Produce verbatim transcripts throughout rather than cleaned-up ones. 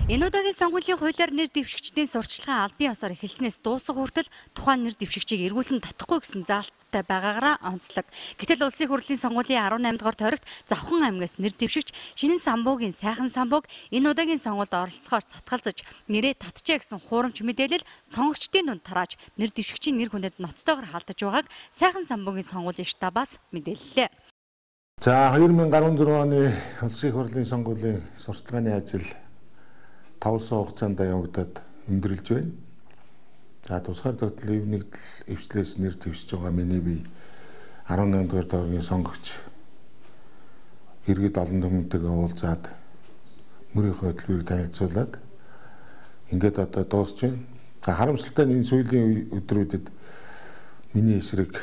Энэ удаагийн сонгуулийн хуулиар нэр дэвшигчдийн сурталчилгаа албан ёсоор эхэлснээс дуусах хүртэл тухайн нэр дэвшигчийг эргүүлэн татахгүй гэсэн заалттай байгаагаараа онцлог. Гэтэл улсын хурлын сонгуулийн арван наймдугаар тойрогт Завхан аймгаас нэр дэвшигч Шинэн самбуугийн сайхан самбууг энэ удаагийн сонгуульд оролцохоор татгалзаж нэрээ татжээ гэсэн хуурамч мэдээлэл сонгогчдын дунд тарааж нэр дэвшигчийн нэр хүндэд ноцтойгоор халдаж байгааг сайхан самбуугийн сонгуулийн штабаас мэдээллээ. За хоёр мянган гаруй зургааны оны улсын хурлын сонгуулийн сурталчилгааны ажил таван сар хугацаанд явагдаад өндөрлөж байна. За тусгаар тогтол эв нэгдэл эвслээс нэр дэвшиж байгаа миний бие арван наймдугаар доргийн сонгогч иргэд олон түмэнтэйгээ уулзаад мөрийнхөө хөтөлбөрийг танилцуулаад ингээд одоо дуусч байна. За харамсалтай нь энэ сүүлийн өдрүүдэд миний эсрэг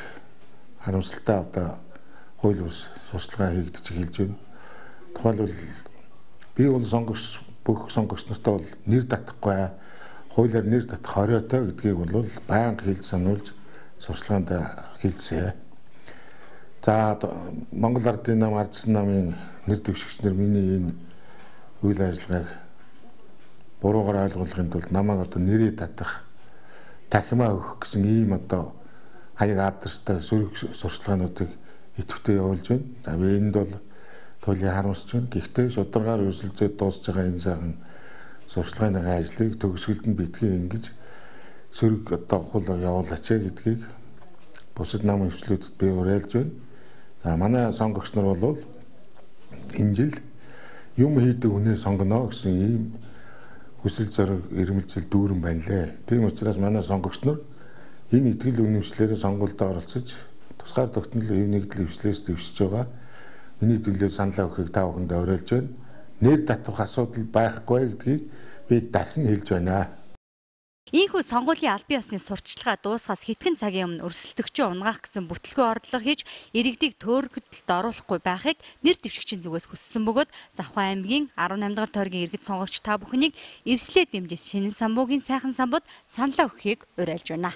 харамсалтай одоо хууль бус сурталчилгаа хийгдэж эхэлж байна. Тухайлбал би бол сонгогч бүх сонгогч нартай бол нэр татахгүй хуулиар нэр татах хориотой гэдгийг бол байнга хэлж сануулж сурталчилгаанд хэлсэн. За Монгол Ардын нам ардсан намын нэр дэвшигчнэр миний энэ үйл ажиллагааг буруугаар ойлгуулахын тулд намайг одоо нэрээ татах тахимаа өгөх гэсэн ийм одоо хаяг алдартай сөрөг сурталчилгаануудыг идэвхтэй явуулж байна. За би энд бол туйлын харамсч байна. Гэхдээ шударгаар өрсөлдөд дуусж байгаа энэ сайхан сурталчилгааны ажлыг төгсгөлд нь битгий ингэж сөрөг одоо хул явуулаач гэдгийг бусад нам өвчлүүдэд би уриалж байна. За манай сонгогч нар бол энэ жил юм хийдэг хүнээ сонгоно гэсэн ийм хүсэл зориг эрмэлзэл дүүрэн байна лээ. Тийм учраас манай сонгогч нар энэ итгэл үнэмшлэрээ сонгуульд оролцож тусгаар тогтнол эв нэгдэл эвслээс дэвшиж байгаа. Миний төлөө саналаа өгөхийг та бүхэнд уриалж байна. Нэр татах асуудал байхгүй гэдгийг би дахин хэлж байна. Ийхүү сонгуулийн албан ёсны сурталчилгаа дуусахаас хэдхэн цагийн өмнө өрсөлдөгчөө унгаах гэсэн бүтлгүй ордлого хийж иргэдийг төөрөгдөлд оруулахгүй байхыг нэр дэвшигчийн зүгээс хүссэн бөгөөд Завхан аймгийн арван наймдугаар тойргийн иргэд сонгогч та бүхнийг эвслээ дэмжиж Шинэн самбуугийн сайхан самбууд саналаа өгөхийг уриалж байна.